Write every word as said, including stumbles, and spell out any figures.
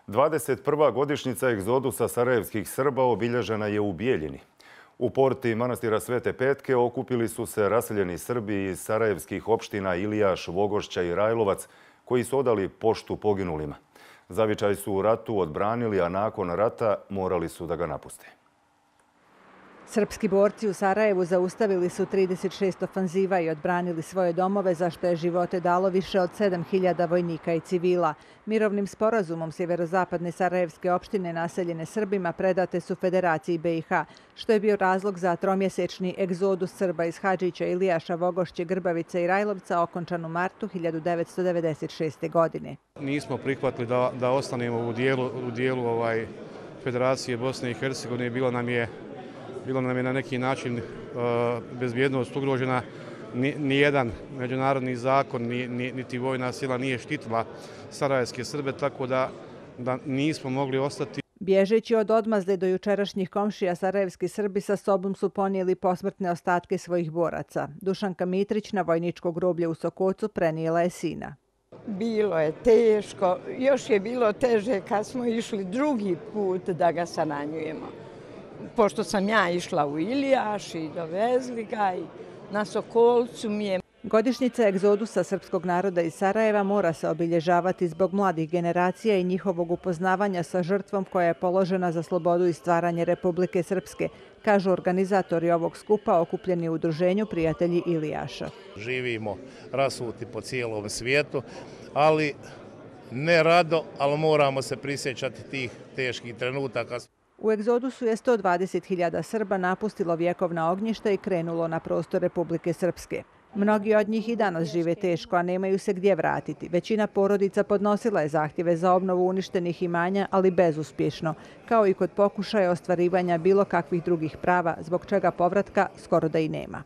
dvadeset prva godišnjica egzodusa sarajevskih Srba obilježena je u Bijeljini. U porti manastira Svete Petke okupili su se raseljeni Srbi iz sarajevskih opština Ilijaš, Vogošća i Rajlovac, koji su odali poštu poginulima. Zavičaj su u ratu odbranili, a nakon rata morali su da ga napuste. Srpski borci u Sarajevu zaustavili su trideset šest ofanziva i odbranili svoje domove, za što je živote dalo više od sedam hiljada vojnika i civila. Mirovnim sporazumom sjeverozapadne sarajevske opštine naseljene Srbima predate su Federaciji B i H, što je bio razlog za tromjesečni egzodus Srba iz Hadžića, Ilijaša, Vogošće, Grbavice i Rajlovca okončan u martu hiljadu devetsto devedeset šeste. godine. Nismo prihvatili da, da ostanemo u dijelu, u dijelu ovaj, Federacije Bosne i Hercegovine. Bilo nam je Bilo nam je na neki način uh, bezbjednost ugrožena. Nijedan međunarodni zakon, ni, ni, niti vojna sila nije štitila sarajevske Srbe, tako da, da nismo mogli ostati. Bježeći od odmazde do jučerašnjih komšija, sarajevski Srbi sa sobom su ponijeli posmrtne ostatke svojih boraca. Dušanka Mitrić na vojničko groblje u Sokocu prenijela je sina. Bilo je teško, još je bilo teže kad smo išli drugi put da ga saranjujemo. Pošto sam ja išla u Ilijaš i dovezli ga i na Sokolcu mi je. Godišnjica egzodusa srpskog naroda iz Sarajeva mora se obilježavati zbog mladih generacija i njihovog upoznavanja sa žrtvom koja je položena za slobodu i stvaranje Republike Srpske, kažu organizatori ovog skupa okupljeni u udruženju Prijatelji Ilijaša. Živimo rasuti po cijelom svijetu, ali ne rado, ali moramo se prisjećati tih teških trenutaka. U egzodusu je sto dvadeset hiljada Srba napustilo vjekovna ognjišta i krenulo na prostor Republike Srpske. Mnogi od njih i danas žive teško, a nemaju se gdje vratiti. Većina porodica podnosila je zahtjeve za obnovu uništenih imanja, ali bezuspješno, kao i kod pokušaja ostvarivanja bilo kakvih drugih prava, zbog čega povratka skoro da i nema.